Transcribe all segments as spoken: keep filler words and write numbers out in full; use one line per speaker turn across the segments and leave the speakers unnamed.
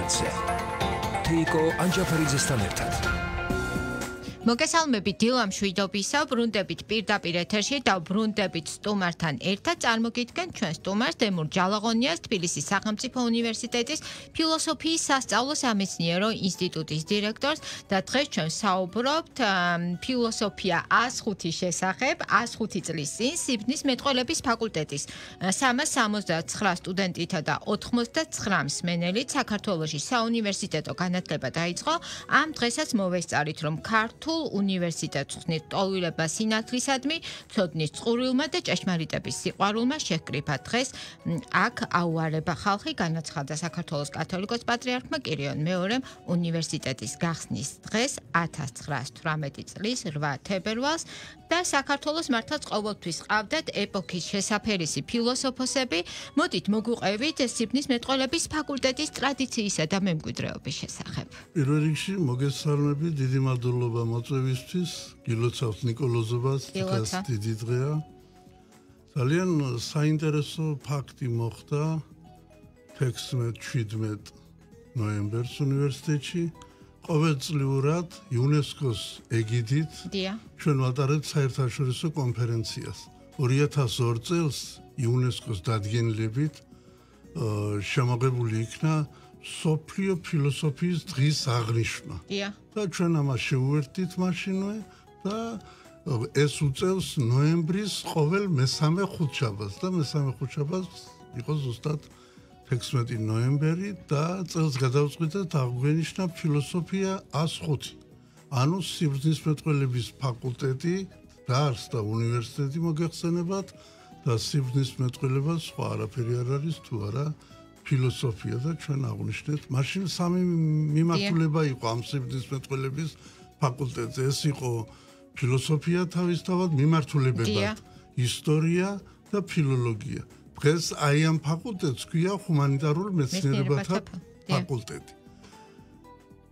ინტერნეტზე. თეიკო ანჯაფარიძესთან ერთად.
მოგესალმებით დილამ შვიდობისა, ბრუნდებით პირდაპირ ეთერში და ბრუნდებით სტუმართან ერთად წარმოგიდგენ ჩვენ სტუმარს დემურ ჯალაღონიას, თბილისის სახელმწიფო უნივერსიტეტის ფილოსოფიის სასწავლო სამეცნიერო ინსტიტუტის დირექტორს და დღეს ჩვენ საუბრობთ ფილოსოფია ას ხუთის შესახებ, ას ხუთი წლის წინ სიბრძნის მეტყველების ფაკულტეტის სამას სამოცდაცხრა სტუდენტითა და ოთხმოცდაცხრა მსმენელით საქართველოში საუნივერსიტეტო განათლება დაიწყო. ამ დღესაც მოვესწარით, რომ ქართულ უნივერსიტეტს ხსნით ტოლვილება სინათლისადმი, ცოდნის წყურვილმა და ჭეშმარიტების სიყვარულმა შეჰკრიფა დღეს აქ აუარება ხალხი, განაცხადა საქართველოს კათოლიკოს პატრიარქმა კირიონ მეორემ უნივერსიტეტის გახსნის დღეს ათას ცხრაას თვრამეტი წლის რვა თებერვალს და საქართველოს მართლაც ყოველთვის ყავდათ ეპოქის შესაფერისი ფილოსოფოსები. მოდით მოგვიყევით სიბრძნის მეტყველების ფაკულტეტის ტრადიციისა და მემკვიდრეობის შესახებ.
პირველ რიგში მოგესალმებით, დიდი მადლობა მოწვევისთვის, გილოცავთ ნიკოლოზობას, დღეს დიდი დღეა. ძალიან საინტერესო ფაქტი მოხდა თექვსმეტ შვიდმეტ ნოემბერს უნივერსიტეტში. ყოველწლიურად იუნესკოს ეგიდით ჩვენ ვატარებთ საერთაშორისო კონფერენციას. ორი ათას ორ წელს იუნესკოს დადგენილებით შემოღებული იქნა მსოფლიო ფილოსოფიის დღის აღნიშვნა. და ჩვენ ამას შევუერთდით მაშინვე და ეს უწევს ნოემბრის ყოველ მესამე ხუთშაბათს და მესამე ხუთშაბათს იყო ზუსტად თექვსმეტი ნოემბერი და წელს გადავწყვიტეთ აღვნიშნა ფილოსოფია ას ხუთი. ანუ სიბრძნის მეტყველების ფაკულტეტი დაარსდა უნივერსიტეტი მოგეხსენებათ და სიბრძნის მეტყველება სხვა არაფერი არ არის თუ არა ფილოსოფია და ჩვენ აღვნიშნეთ. მაშინ სამი მიმართულება იყო ამ სიბრძნის მეტყველების ფაკულტეტზე. ეს იყო ფილოსოფია თავისთავად მიმართულებებად, ისტორია და ფილოლოგია. დღეს აი ამ ფაკულტეტს ქვია ჰუმანიტარულ მეცნიერებათა ფაკულტეტი.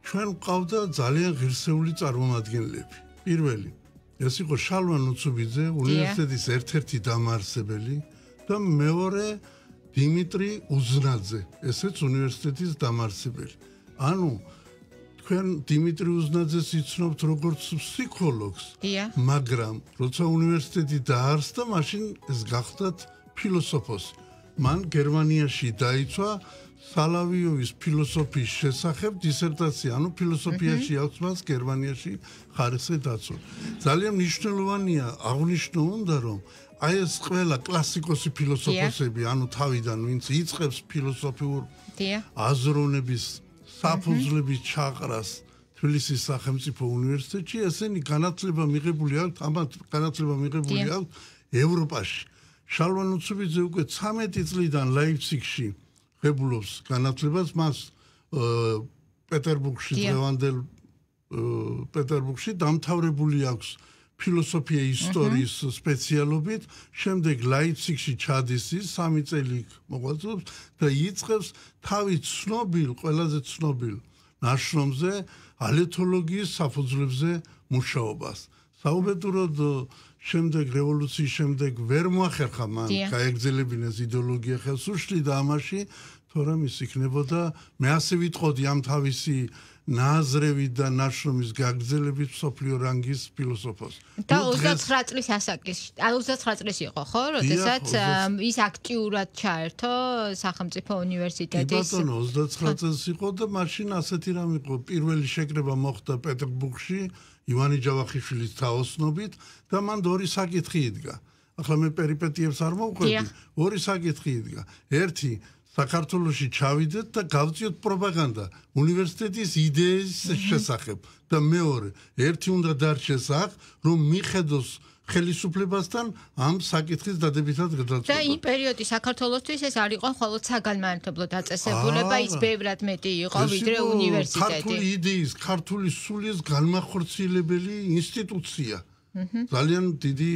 ჩვენ ყავდა ძალიან ღირსეული წარმომადგენლები. პირველი, ეს იყო შალვა ნუცუბიძე, უნივერსიტეტის ერთ-ერთი დამაარსებელი და მეორე დიმიტრი უზნაძე, ესეც უნივერსიტეტის დამაარსებელი. ანუ თქვენ დიმიტრი უზნაძეს იცნობთ როგორც ფსიქოლოგს, მაგრამ როცა უნივერსიტეტი დაარსდა, მაშინ ეს გახდათ ფილოსოფოსი. მან გერმანიაში დაიცვა სალავიოვის ფილოსოფიის შესახებ დისერტაცია, ანუ ფილოსოფიაში აქვს მას გერმანიაში ხარისხი დაცვა. ძალიან მნიშვნელოვანია აღნიშნო უნდა, რომ აი ეს ყველა კლასიკოსი ფილოსოფოსები, ანუ თავიდან ვინც იწყებს ფილოსოფიურ აზროვნების საფუძვლების ჩაყრას თბილისის სახელმწიფო უნივერსიტეტში, ესენი განათლება მიღებული აქვს, ამათ განათლება მიღებული აქვს ევროპაში. შალვა ნუცუბიძე უკვე ცამეტი წლიდან ლაიფციგში ღებულობს განათლებას, მას პეტერბურგში დღევანდელ პეტერბურგში დამთავრებული აქვს ფილოსოფია ისტორიის სპეციალობით, შემდეგ ლაიფციგში ჩადის ის სამი წელი მოღვაწეობს და იწყებს თავის ცნობილ, ყველაზე ცნობილ ნაშრომზე ალეთოლოგიის საფუძვლებზე მუშაობას. საუბედუროდ შემდეგ რევოლუციის შემდეგ ვერ მოახერხა მან გაეგრძელებინეს იდეოლოგია ხელს უშლიდა ამაში, თორემ ის იქნებოდა მე ასე ვიტყოდი ამ თავისი ნაზრევით და ნაშრომის გაგრძელებით მსოფლიო რანგის ფილოსოფოსი.
და ოცდაცხრა წლის ასაკში, ოცდაცხრა წლის იყო, ხო, როდესაც ის აქტიურად ჩაერთო სახელმწიფო უნივერსიტეტის.
ბატონო, ოცდაცხრა წელს იყო და მაშინ ასეთი რამ იყო, პირველი შეკრება მოხდა პეტერბურგში ივანი ჯავახიშვილის თაოსნობით და მან ორი საკითხი იდგა. ახლა მე პერიპეტიებს არ მოვყვები, ორი საკითხი იდგა. ერთი საქართველოში ჩავიდეთ და გავწიოთ პროპაგანდა უნივერსიტეტის იდეის შესახებ და მეორე, ერთი უნდა დარჩეს აქ, რომ მიხედოს ხელისუფლებასთან ამ საკითხის დადებითად გადაწყვეტა.
და იმ პერიოდი საქართველოსთვის ეს არ იყო მხოლოდ საგანმანათლებლო დაწესებულება, ის ბევრად მეტი იყო ვიდრე უნივერსიტეტი.
ქართული იდეის, ქართული სულის განმახორციელებელი ინსტიტუცია. ძალიან დიდი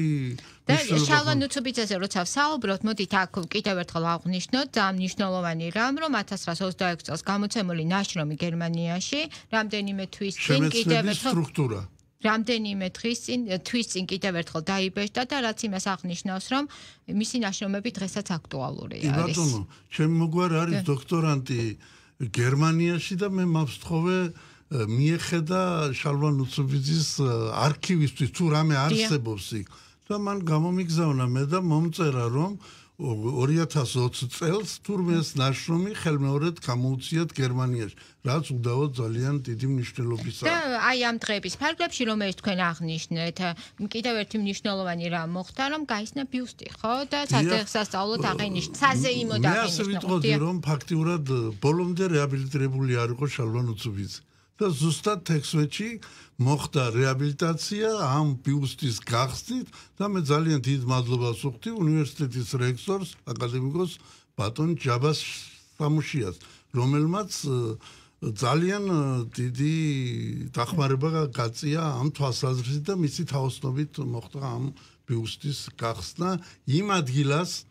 და შალვა ნუცუბიძეზე როცა ვსაუბრობთ, მოდით აქ კიდევ ერთხელ აღვნიშნოთ ამ მნიშვნელოვანი რამ, რომ ათას ცხრაას ოცდაექვსი წელს გამოცემული ნაშრომი გერმანიაში რამდენიმე თვის წინ კიდევ ერთხელ სტრუქტურა რამდენიმე თვის წინ თვის წინ კიდევ ერთხელ დაიბეჭდა და რაც იმას აღნიშნავს, რომ მისი ნაშრომები დღესაც აქტუალური არის.
ბატონო, ჩემი მოგვარი არის დოქტორანტი გერმანიაში და მე მავსთხოვე მიეხედა შალვა ნუცუბიძის არქივისთვის თუ რამე არსებობს იქ და მან გამომიგზავნა მე და მომწერა რომ ორი ათას ოცი წელს თურმეს ნაშრომი ხელმეორედ გამოუციათ გერმანიაში, რაც უდავოდ ძალიან დიდი მნიშვნელობისაა.
და აი ამ დღეების ფარგლებში რომელიც თქვენ აღნიშნეთ, კიდევ ერთი მნიშვნელოვანი რამ მოხდა, რომ გაისნა ბიუსტი, ხო? და სასწავლოდ აღინიშნა, საზეიმოდ აღინიშნა.
მე ასე ვიტყოდი, რომ ფაქტიურად ბოლომდე რეაბილიტირებული არ იყო შალვა ნუცუბიძე. და ზუსტად თექვსმეტში მოხდა რეაბილიტაცია ამ ბიუსტის გახსნით და მე ძალიან დიდ მადლობას ვუხდი უნივერსიტეტის რექტორს აკადემიკოს ბატონ ჯაბას სამუშიას, რომელმაც ძალიან დიდი დახმარება გაწია ამ თვალსაზრისით და მისი თაოსნობით მოხდა ამ ბიუსტის გახსნა იმ ადგილას,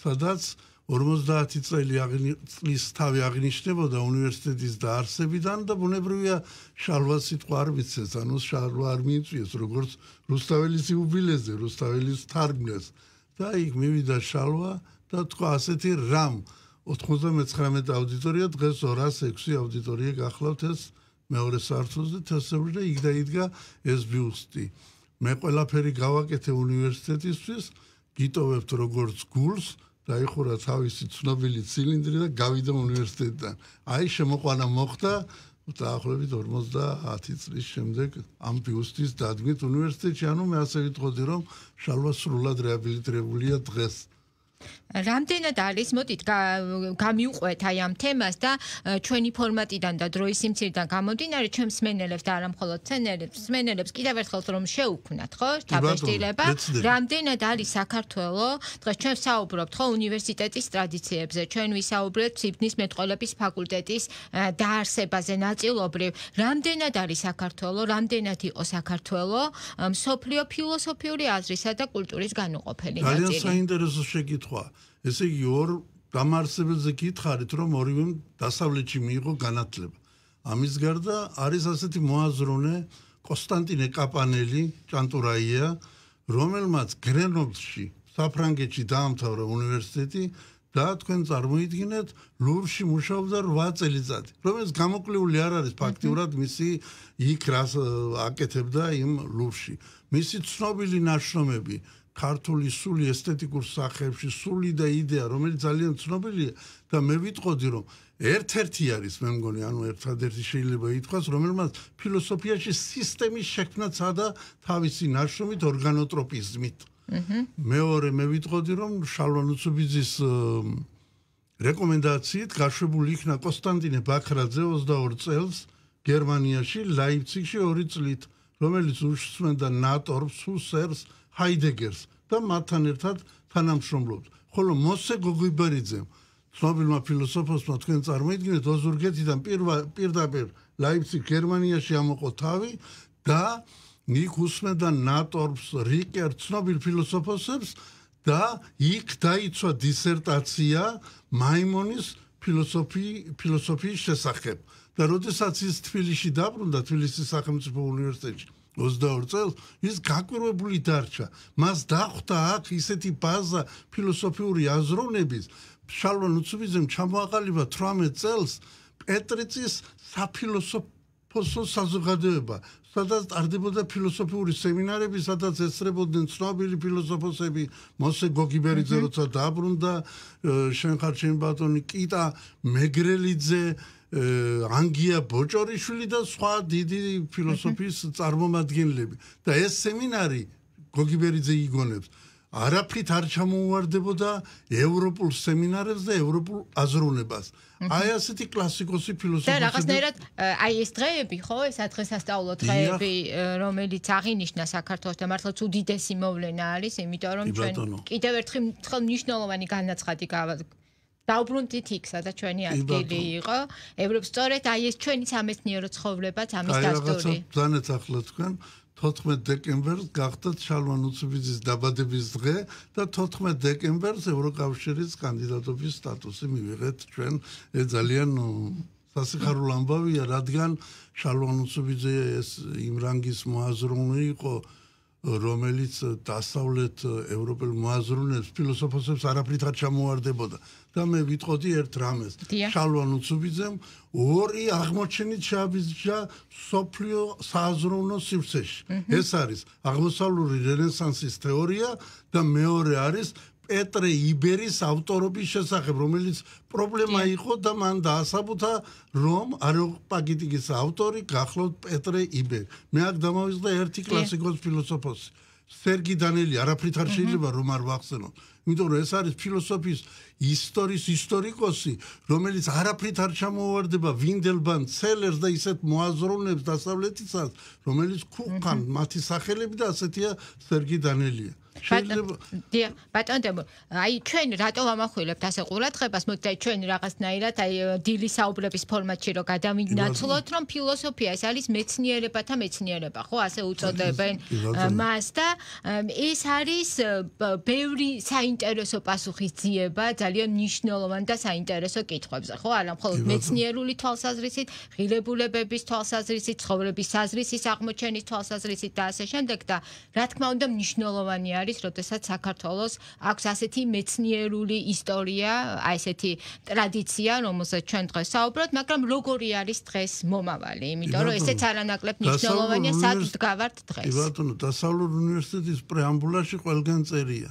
სადაც ორმოცდაათი წელი წლის თავი აღნიშნებოდა უნივერსიტეტის დაარსებიდან და ბუნებრივია შალვა სიტყვა არ მიცეს, ანუ შალვა არ მიიწვიეს როგორც რუსთაველის იუბილეზე, რუსთაველის თარგმნეს და იქ მივიდა შალვა და თქვა ასეთი რამ ოთხმოცდამეცხრამეტი აუდიტორია დღეს ორას ექვსი აუდიტორია გახლავთ ეს მეორე სართულზე თესევრი და იქ დაიდგა ეს ბიუსტი. მე ყველაფერი გავაკეთე უნივერსიტეტისთვის, გიტოვებთ როგორც გულს დაიხურა თავისი ცნობილი ცილინდრი და გავიდა უნივერსიტეტიდან. აი შემოყვანა მოხდა დაახლოებით ორმოცდაათი წლის შემდეგ ამ ბიუსტის დადგმით უნივერსიტეტში. ანუ მე ასე ვიტყოდი, რომ შალვა სრულად რეაბილიტირებულია დღეს.
რამდენად არის, მოდით გამიუყვეთ აი ამ თემას და ჩვენი ფორმატიდან და დროის სიმცირიდან გამომდინარე ჩვენ მსმენელებს და არა მხოლოდ მცენელებს, მსმენელებს კიდევ ერთხელ რომ შეუქმნათ, ხო? დაბეჭდილება. რამდენად არის საქართველო, დღეს ჩვენ საუბრობთ, ხო, უნივერსიტეტის ტრადიციებზე, ჩვენ ვისაუბრეთ სიბნის მეტყველების ფაკულტეტის დაარსებაზე ნაწილობრივ. რამდენად არის საქართველო, რამდენად იყო საქართველო მსოფლიო ფილოსოფიური აზრისა და კულტურის განუყოფელი ნაწილი?
ძალიან საინტერესო შეკითხვა. ესე იგი ორ დამარსებელზე გითხარით, რომ ორივემ დასავლეთში მიიღო განათლება. ამის გარდა არის ასეთი მოაზროვნე კონსტანტინე კაპანელი, ჭანტურაია, რომელმაც გრენობლში, საფრანგეთში დაამთავრა უნივერსიტეტი და თქვენ წარმოიდგინეთ, ლუვრში მუშაობდა რვა წელიწადი. რომელიც გამოკლეული არ არის ფაქტიურად მისი იქ რას აკეთებდა იმ ლუვრში. მისი ცნობილი ნაშრომები ქართული სული ესთეტიკურ სახეებში, სული და იდეა, რომელიც ძალიან ცნობილია და მე ვიტყოდი, რომ ერთ-ერთი არის, მე მგონი, ანუ ერთადერთი შეიძლება ითქვას, რომელმაც ფილოსოფიაში სისტემის შექმნაცა და თავისი ნაშრომით ორგანოტროპიზმით. მეორე მე ვიტყოდი, რომ შალვა ნუცუბიძის რეკომენდაციით გაშვებული იქნა კონსტანტინე ბაქრაძე ოცდაორ წელს გერმანიაში, ლაიფციგში ორი წლით, რომელიც უსმენდა ნატორს, ჰუსერს, ჰაიდეგერს და მათთან ერთად თანამშრომლობდა. ხოლო მოსე გოგიბერიძემ, ცნობილმა ფილოსოფოსმა თქვენ წარმოიდგინეთ, ოზურგეთიდან პირდაპირ ლაიფციგ გერმანიაში ამოყო თავი და იქ უსმენდა ნატორს, რიკერ, ცნობილ ფილოსოფოსებს და იქ დაიცვა დისერტაცია მაიმონის ფილოსოფიის შესახებ. და როდესაც ის თბილისში დაბრუნდა, თბილისის სახელმწიფო უნივერსიტეტში ოცდაორ წელს, ის გაკვირვებული დარჩა. მას დახვდა აქ ისეთი ბაზა ფილოსოფიური აზროვნების. შალვა ნუცუბიძემ ჩამოაყალიბა თვრამეტ წელს პეტრიცის საფილოსოფოსო საზოგადოება, სადაც ტარდებოდა ფილოსოფიური სემინარები, სადაც ესწრებოდნენ ცნობილი ფილოსოფოსები, მოსე გოგიბერიძე როცა დაბრუნდა, შენ ხარ ჩემი ბატონი კიტა მეგრელიძე, ანგია ბოჭორიშვილი და სხვა დიდი ფილოსოფიის წარმომადგენლები. და ეს სემინარი გოგიბერიძე იგონებს არაფრით არ ჩამოუვარდებოდა ევროპულ სემინარებს და ევროპულ აზროვნებას. აი ასეთი კლასიკოსი ფილოსოფოსები
და რაღაცნაირად აი ეს დღეები, ხო, ეს დღესასწაულო დღეები, რომელიც აღინიშნა საქართველოს და მართლაც უდიდესი მოვლენა არის, იმიტომ რომ ჩვენ კიდევ ერთხელ მნიშვნელოვანი განაცხადი გავაკეთეთ. დაუბრუნდით იქ, სადაც ჩვენი ადგილი იყო. ევროპის სწორედ აი ეს ჩვენი სამეცნიერო ცხოვრებაც ამის დასტური.
აი, ძალიან ახლა თქვენ თოთხმეტ დეკემბერს გახდათ შალვა ნუცუბიძის დაბადების დღე და თოთხმეტ დეკემბერს ევროკავშირის კანდიდატობის სტატუსი მივიღეთ ჩვენ. ეს ძალიან სასიხარულო ამბავია, რადგან შალვა ნუცუბიძე ეს იმ რანგის მოაზროვნე იყო, რომელიც დასავლეთ ევროპელ მოაზროვნეებს ფილოსოფოსებს არაფრით არ ჩამოواردებოდა და მე ვიტყოდი ერთ რამეს შალვა ნუცუბიძემ ორი აღმოჩენით შეაბიჯა სოფლიო სააზროვნო სივრცეში ეს არის აღმოსავლური რენესანსის თეორია და მეორე არის პეტრე იბერის ავტორობის შესახებ, რომელიც პრობლემა იყო და მან დაასაბუთა, რომ არეოპაგიტიკის ავტორი გახლავთ პეტრე იბერი. მე აქ დამავიწყდა ერთი კლასიკოს ფილოსოფოსი, სერგი დანელი, არაფრით არ შეიძლება რომ არ ვახსენოთ. იმიტომ რომ ეს არის ფილოსოფიის ისტორიის ისტორიკოსი, რომელიც არაფრით არ ჩამოუვარდება ვინდელბან ცელერს და ისეთ მოაზროვნებს დასავლეთისას, რომელიც ქუხან მათი სახელები და ასეთია სერგი დანელია.
დიახ, ბატონო, აი ჩვენ რატო ვამახვილებთ ასე ყურადღებას, მოდით აი ჩვენ რაღაცნაირად აი დილის საუბრების ფორმატში რო გადავინაცვლოთ, რომ ფილოსოფია ეს არის მეცნიერებათა მეცნიერება, ხო, ასე უწოდებენ მას და ეს არის ბევრი საინტერესო პასუხისძიება, ძალიან მნიშვნელოვანი და საინტერესო კითხვებზე, ხო, არა მხოლოდ მეცნიერული თვალსაზრისით, ღირებულებების თვალსაზრისით, ცხოვრების საზრისის აღმოჩენის თვალსაზრისით და ასე შემდეგ და რა თქმა უნდა მნიშვნელოვანი არის როდესაც საქართველოს აქვს ასეთი მეცნიერული ისტორია, აი ესეთი ტრადიცია, რომელზეც ჩვენ დღეს საუბრობთ, მაგრამ როგორი არის დღეს მომავალი, იმიტომ რომ ესეც არანაკლებ მნიშვნელოვანია, სად ვდგავართ დღეს.
კი ბატონო, დასავლურ უნივერსიტეტის პრეამბულაში ყველგან წერია.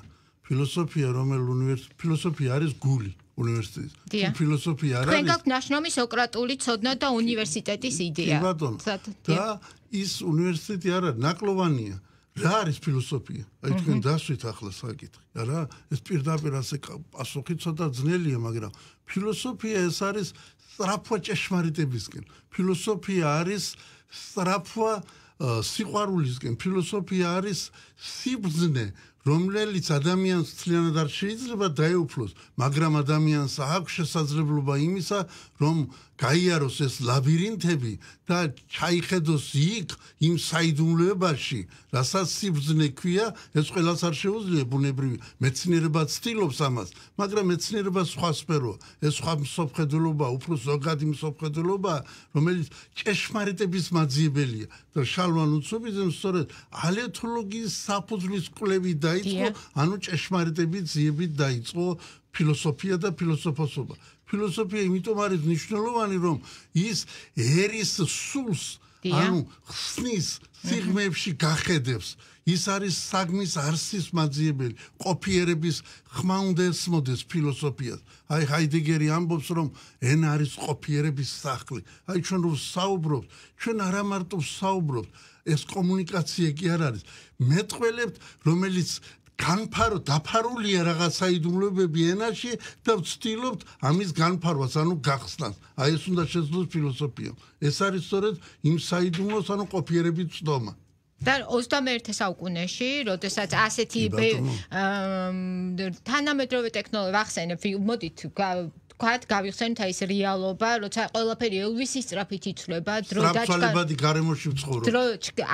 ფილოსოფია, რომელ უნივერსიტეტში ფილოსოფია არის გული უნივერსიტეტის. ფილოსოფია არის
თქვენ გაქვთ ნაშრომი სოკრატული ცოდნა და უნივერსიტეტის იდეა.
კი ბატონო. და ის უნივერსიტეტი არა ნაკლოვანია. რა არის ფილოსოფია? აი თქვენ დასვით ახლა საკითხი. არა, ეს პირდაპირ ასე პასუხი ცოტა ძნელია, მაგრამ ფილოსოფია ეს არის სწრაფვა ჭეშმარიტებისკენ. ფილოსოფია არის სწრაფვა სიყვარულისკენ. ფილოსოფია არის სიბრძნე, რომელიც ადამიანს მთლიანად არ შეიძლება დაეუფლოს, მაგრამ ადამიანს აქვს შესაძლებლობა იმისა, რომ გაიაროს ეს ლაბირინთები და ჩაიხედოს იქ იმ საიდუმლოებაში, რასაც სიბრძნე ქვია, ეს ყველას არ შეუძლია ბუნებრივი. მეცნიერება ცდილობს ამას, მაგრამ მეცნიერება სხვა სფეროა. ეს სხვა მსოფლმხედველობა, უფრო ზოგადი მსოფლმხედველობა, რომელიც ჭეშმარიტების მაძიებელია. და შალვა ნუცუბიძემ სწორედ ალეთოლოგიის საფუძვლის კვლევით დაიწყო, ანუ ჭეშმარიტების ძიებით დაიწყო ფილოსოფია და ფილოსოფოსობა. ფილოსოფია იმიტომ არის მნიშვნელოვანი, რომ ის ერის სულს, ანუ ხსნის სიღრმეებში გახედებს. ის არის საგმის არსის მაძიებელი, ყოფიერების ხმა უნდა ესმოდეს ფილოსოფიას. აი ჰაიდეგერი ამბობს, რომ ენა არის ყოფიერების სახლი. აი ჩვენ რომ საუბრობთ, ჩვენ არა მარტო საუბრობთ, ეს კომუნიკაცია კი არ არის. მეტყველებთ, რომელიც განფარო დაფარულია რაღაც საიდუმლოებები ენაში და ვცდილობთ ამის განფარვას, ანუ გახსნას. აი ეს უნდა შეძლოს ფილოსოფიამ. ეს არის სწორედ იმ საიდუმლოს, ანუ ყოფიერების ცდომა.
და ოცდამეერთე საუკუნეში, როდესაც ასეთი თანამედროვე ტექნოლოგია ვახსენებ, მოდით ვთქვათ, გავიხსენოთ აი ეს რეალობა, როცა ყველაფერი ელვისის სწრაფით იცვლება, დრო
დაჩქარებადი გარემოში ვცხოვრობ.
დრო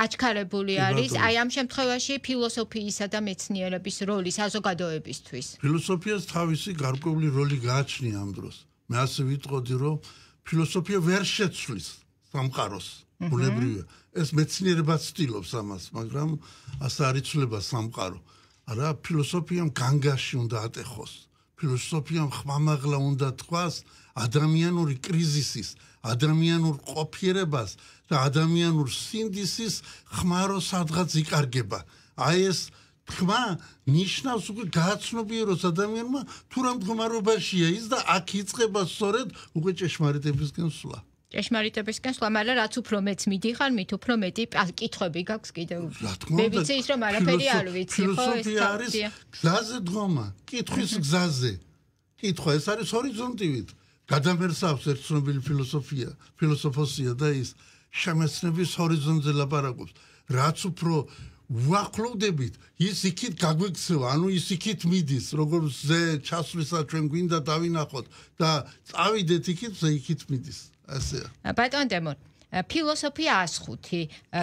აჩქარებული არის, აი ამ შემთხვევაში ფილოსოფიისა და მეცნიერების როლი საზოგადოებისთვის.
ფილოსოფიას თავისი გარკვეული როლი გააჩნია ამ დროს. მე ასე ვიტყოდი, რომ ფილოსოფია ვერ შეცვლის სამყაროს. ბუნებრივია. ეს მეცნიერება ცდილობს ამას, მაგრამ ასე არ იცვლება სამყარო. არა, ფილოსოფიამ განგაში უნდა ატეხოს. ფილოსოფიამ ხმამაღლა უნდა თქვას ადამიანური კრიზისის, ადამიანურ ყოფიერებას და ადამიანურ სინდისის ხმარო სადღაც იკარგება. აი ეს ხმა ნიშნავს უკვე გააცნობიეროს ადამიანმა თუ რა მდგომარეობაშია ის და აქ იწყება სწორედ უკვე ჭეშმარიტებისკენ სვლა.
ჭეშმარიტებისკენ სვლა, მაგრამ რაც უფრო მეც მიდიხარ, მით უფრო მეტი კითხვები გაქვს კიდევ. მე ვიცი ის რომ არაფერი არ ვიცი, ხო?
ფილოსოფია არის გზაზე დგომა, კითხვის გზაზე. კითხვა ეს არის ჰორიზონტივით. გადამერსავს ერთ ცნობილი ფილოსოფია, ფილოსოფოსია და ის შემეცნების ჰორიზონტზე ლაპარაკობს. რაც უფრო ვახლოვდებით, ის იქით გაგვექცევა, ანუ ის იქით მიდის, როგორც ზე ჩასვლისა ჩვენ გვინდა დავინახოთ და წავიდეთ იქით, ზე იქით მიდის. ასეა.
ბატონ დემონ, ფილოსოფია აზხუთი,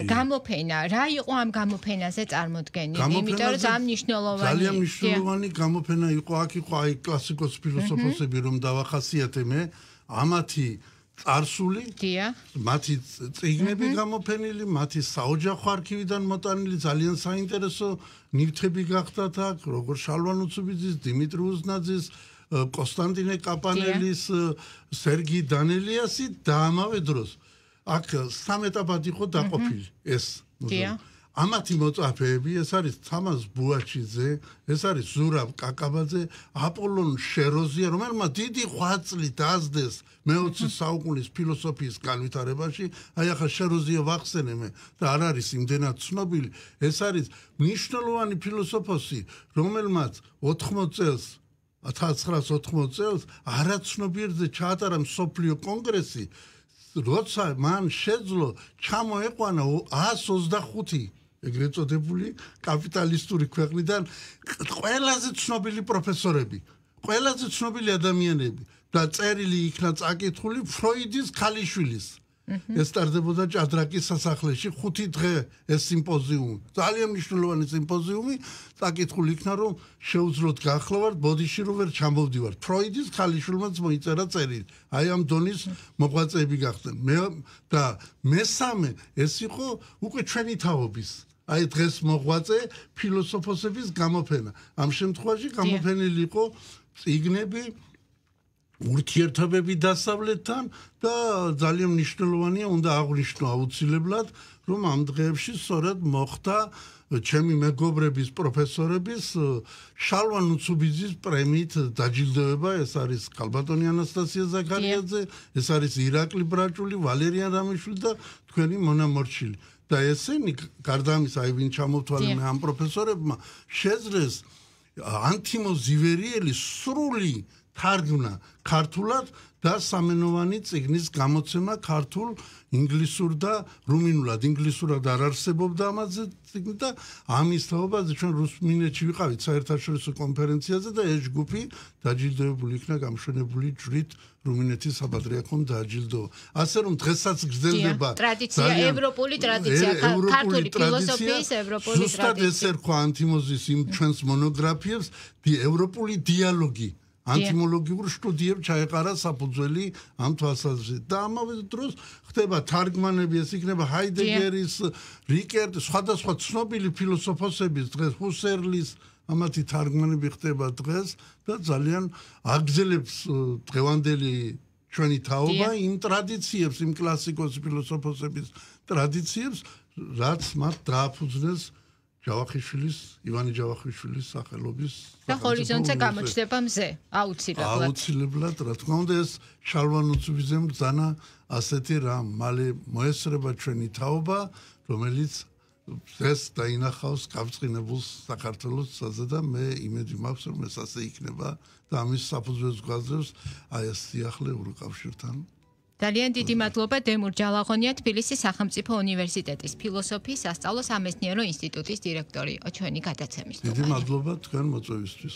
გამოფენა, რა იყო ამ გამოფენაზე წარმოდგენილი? იმიტომ რომ ძალიან მნიშვნელოვანი.
ძალიან მნიშვნელოვანი გამოფენა იყო, აქ იყო აი კლასიკოს ფილოსოფოსები რომ დავახასიათე მე, ამათი წარსული,
დიახ.
მათი წიგნები გამოფენილი, მათი საოჯახო არქივიდან მოტანილი ძალიან საინტერესო ნივთები გახდათ აქ, როგორ შალვა ნუცუბიძის, დიმიტრი უზნაძის, კონსტანტინე კაპანელის, სერგი დანელიასი და ამავე დროს აქ სამეტაპად იყო დაყოფილი ეს მუზეუმი. ამათი მოწაფეები ეს არის თამაზ ბუაჩიძე, ეს არის ზურაბ კაკაბაძე, აპოლონ შეროზია, რომელმაც დიდი ღვაწლი დაასდეს მეოცე საუკუნის ფილოსოფიის განვითარებაში. აი ახლა შეროზია ვახსენე და არ არის იმდენად ცნობილი. ეს არის მნიშვნელოვანი ფილოსოფოსი, რომელმაც ოთხმოცი წელს ათას ცხრაას ოთხმოცი წელს არაცნობიერზე ჩაატარა მსოფლიო კონგრესი, როცა მან შეძლო ჩამოეყვანა ას ოცდახუთი ეგრეთ წოდებული კაპიტალისტური ქვეყნიდან ყველაზე ცნობილი პროფესორები, ყველაზე ცნობილი ადამიანები და წერილი იქნა წაკითხული ფროიდის ქალიშვილის. ეს ტარდებოდა ჭადრაკის სასახლეში ხუთი დღე ეს სიმპოზიუმი. ძალიან მნიშვნელოვანი სიმპოზიუმი, წაკითხული იქნა რომ შეუძლოთ გახლავართ ბოდიში რომ ვერ ჩამოვდივართ. ფროიდის ქალიშვილმაც მოიწერა წერილი. აი ამ დონის მოღვაწეები გახდნენ. მე და მესამე ეს იყო უკვე ჩვენი თაობის აი დღეს მოღვაწე ფილოსოფოსების გამოფენა. ამ შემთხვევაში გამოფენილი იყო წიგნები, ურთიერთობები დასავლეთთან და ძალიან მნიშვნელოვანია უნდა აღვნიშნო აუცილებლად, რომ ამ დღეებში სწორედ მოხდა ჩემი მეგობრების პროფესორების შალვა ნუცუბიძის პრემიით დაჯილდოება. ეს არის ქალბატონი ანასტასია ზაქარიაძე, ეს არის ირაკლი ბრაჭული, ვალერიან რამიშვილი და თქვენი მონა მორჩილი. და ესენი გარდა ამისა, აი ვინ ჩამოვთვალე მე ამ პროფესორებმა შეძლეს ანთიმო ზივერიელის სრული თარგმნა ქართულად და სამენოვანი წიგნის გამოცემა ქართულ, ინგლისურ და რუმინულად. ინგლისურად არ არსებობდა ამაზე წიგნი და ამის თაობაზე ჩვენ რუსმინეთში ვიყავით საერთაშორისო კონფერენციაზე და ეს ჯგუფი დაჯილდოებული იქნა გამშვენებული ჯვრით რუმინეთის საპატრიარქომ დააჯილდოა. ასე რომ დღესაც გრძელდება
ტრადიცია, ევროპული ტრადიცია, ქართული ფილოსოფიის ევროპული ტრადიცია.
ზუსტად ეს ერქვა ანთიმოზის იმ ჩვენს მონოგრაფიებს, ევროპული დიალოგი. ანთიმოლოგიურ სტუდიებს ჩაეყარა საფუძველი ამ თვალსაზრისით და ამავე დროს ხდება თარგმანები, ეს იქნება ჰაიდეგერის, რიკერტ, სხვადასხვა ცნობილი ფილოსოფოსების დღეს ჰუსერლის ამათი თარგმანები ხდება დღეს და ძალიან აგრძელებს დღევანდელი ჩვენი თაობა იმ ტრადიციებს, იმ კლასიკოს ფილოსოფოსების ტრადიციებს, რაც მათ დააფუძნეს ჯავახიშვილის, ივანი ჯავახიშვილის სახელობის
და ჰორიზონტზე გამოჩნდება მზე, აუცილებლად.
აუცილებლად, რა თქმა უნდა, ეს შალვა ნუცუბიძემ ბრძანა ასეთი რამ, მალე მოესწრება ჩვენი თაობა, რომელიც ეს დაინახავს გაბრწყინებულ საქართველოს საზა და მე იმედი მაქვს, რომ ეს ასე იქნება და ამის საფუძველს გვაძლევს აი ეს სიახლე ევროკავშირთან.
ძალიან დიდი მადლობა დემურ ჯალაღონია, თბილისის სახელმწიფო უნივერსიტეტის ფილოსოფიის სასწავლო სამეცნიერო ინსტიტუტის დირექტორი იყო ჩვენი გადაცემის.
დიდი მადლობა თქვენ მოწვევისთვის.